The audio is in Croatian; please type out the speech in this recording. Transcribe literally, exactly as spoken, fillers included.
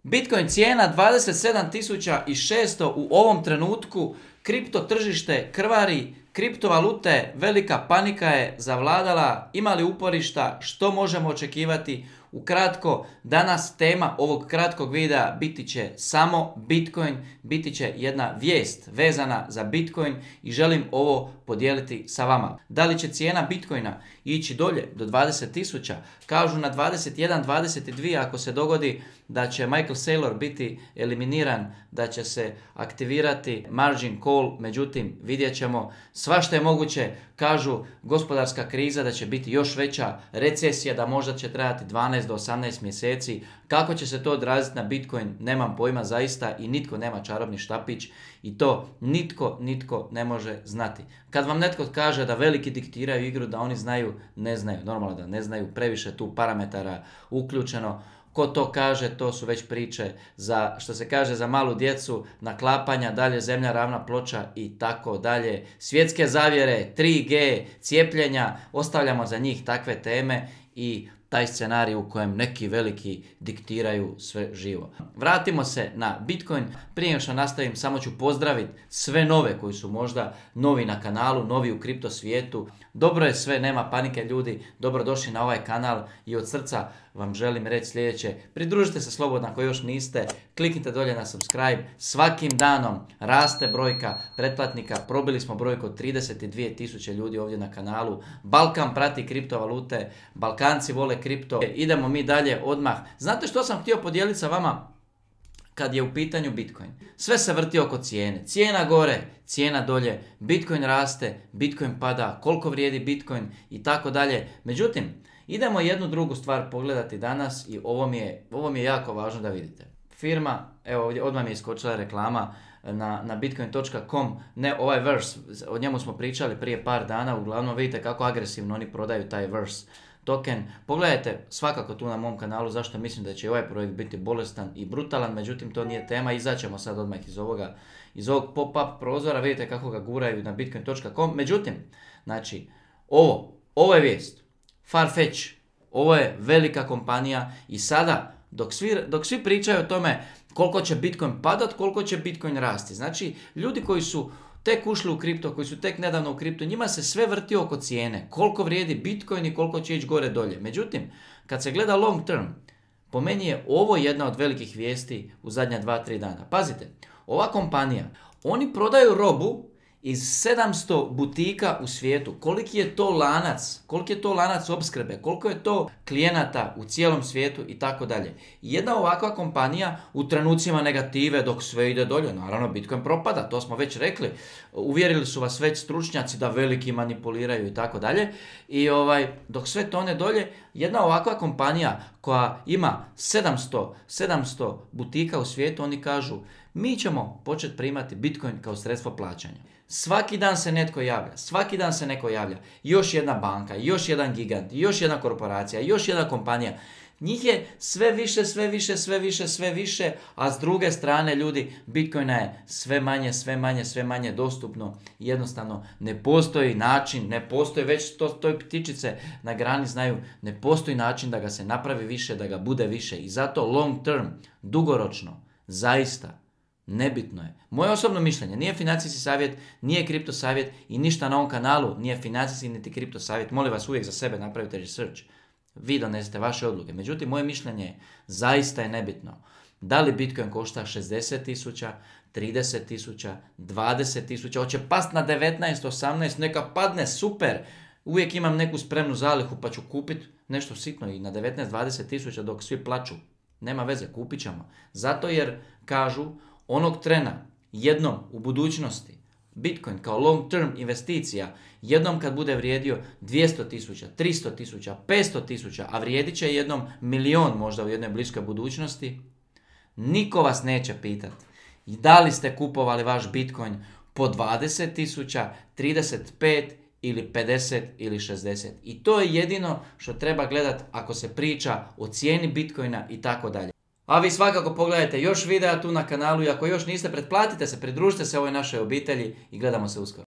Bitcoin cijena dvadeset sedam tisuća šesto u ovom trenutku, kripto tržište krvari, kriptovalute, velika panika je zavladala, ima li uporišta, što možemo očekivati? Ukratko, danas tema ovog kratkog videa biti će samo Bitcoin, biti će jedna vijest vezana za Bitcoin i želim ovo podijeliti sa vama. Da li će cijena Bitcoina ići dolje do dvadeset tisuća? Kažu na dvadeset jedan dvadeset dva ako se dogodi da će Michael Saylor biti eliminiran, da će se aktivirati margin call, međutim vidjet ćemo, svašta je moguće. Kažu gospodarska kriza da će biti još veća, recesija da možda će trajati dvanaest do osamnaest mjeseci. Kako će se to odraziti na Bitcoin, nemam pojma zaista i nitko nema čarobni štapić i to nitko, nitko ne može znati. Kad vam netko kaže da veliki diktiraju igru, da oni znaju, ne znaju, normalno da ne znaju, previše tu parametara uključeno. Ko to kaže, to su već priče za, što se kaže, za malu djecu, naklapanja, dalje zemlja ravna ploča i tako dalje. Svjetske zavjere, tri G, cijepljenja, ostavljamo za njih takve teme i taj scenarij u kojem neki veliki diktiraju sve živo. Vratimo se na Bitcoin. Prije nego što nastavim, samo ću pozdraviti sve nove koji su možda novi na kanalu, novi u kripto svijetu. Dobro je sve, nema panike ljudi, dobrodošli na ovaj kanal i od srca vam želim reći sljedeće. Pridružite se slobodno ako još niste, kliknite dolje na subscribe. Svakim danom raste brojka pretplatnika, probili smo brojku od trideset dvije tisuće ljudi ovdje na kanalu. Balkan prati kriptovalute, Balkanci vole kripto. Idemo mi dalje odmah. Znate što sam htio podijeliti sa vama kad je u pitanju Bitcoin? Sve se vrti oko cijene. Cijena gore, cijena dolje, Bitcoin raste, Bitcoin pada, koliko vrijedi Bitcoin i tako dalje. Međutim, idemo jednu drugu stvar pogledati danas i ovo mi je, ovo mi je jako važno da vidite. Firma, evo ovdje odmah mi je iskočila reklama na, na bitcoin točka com, ne ovaj Verse, o njemu smo pričali prije par dana, uglavnom vidite kako agresivno oni prodaju taj Verse token. Pogledajte svakako tu na mom kanalu zašto mislim da će ovaj projekt biti bolestan i brutalan, međutim to nije tema, izaćemo sad odmah iz ovoga, iz ovog pop-up prozora, vidite kako ga guraju na bitcoin točka com. Međutim, znači, ovo, ovo je vijest, Farfetch, ovo je velika kompanija i sada dok svi, dok svi pričaju o tome koliko će Bitcoin padat, koliko će Bitcoin rasti, znači ljudi koji su tek ušli u kripto, koji su tek nedavno u kripto, njima se sve vrti oko cijene, koliko vrijedi Bitcoin i koliko će ići gore dolje. Međutim, kad se gleda long term, po meni je ovo jedna od velikih vijesti u zadnja dva tri dana. Pazite, ova kompanija, oni prodaju robu iz sedamsto butika u svijetu. Koliki je to lanac, koliki je to lanac opskrbe, koliko je to klijenata u cijelom svijetu i tako dalje. Jedna ovakva kompanija u trenucima negative dok sve ide dolje, naravno Bitcoin propada, to smo već rekli. Uvjerili su vas već stručnjaci da veliki manipuliraju i tako dalje. I ovaj, dok sve tone dolje, jedna ovakva kompanija koja ima sedamsto, sedamsto butika u svijetu, oni kažu mi ćemo početi primati Bitcoin kao sredstvo plaćanja. Svaki dan se netko javlja, svaki dan se neko javlja. Još jedna banka, još jedan gigant, još jedna korporacija, još jedna kompanija. Njih je sve više, sve više, sve više, sve više, a s druge strane ljudi, Bitcoina je sve manje, sve manje, sve manje dostupno. Jednostavno ne postoji način, ne postoji, već to, to ptičice na grani znaju, ne postoji način da ga se napravi više, da ga bude više. I zato long term, dugoročno, zaista, nebitno je. Moje osobno mišljenje, nije financijski savjet, nije kripto savjet i ništa na ovom kanalu nije financijski niti kripto savjet. Molim vas uvijek za sebe napravite research. Vi donesete vaše odluke. Međutim, moje mišljenje je, zaista je nebitno. Da li Bitcoin košta šezdeset tisuća, trideset tisuća, dvadeset tisuća, hoće past na devetnaest, osamnaest, neka padne, super. Uvijek imam neku spremnu zalihu pa ću kupiti nešto sitno i na devetnaest, dvadeset tisuća dok svi plaču. Nema veze, kupit ćemo. Zato jer kažu onog trena, jednom u budućnosti, Bitcoin kao long term investicija, jednom kad bude vrijedio dvjesto tisuća, tristo tisuća, petsto tisuća, a vrijedit će jednom milion možda u jednoj bliskoj budućnosti, niko vas neće pitati da li ste kupovali vaš Bitcoin po dvadeset tisuća, trideset pet ili pedeset ili šezdeset. I to je jedino što treba gledati ako se priča o cijeni Bitcoina i tako dalje. A vi svakako pogledajte još videa tu na kanalu i ako još niste, pretplatite se, pridružite se ovoj našoj obitelji i gledamo se uskoro.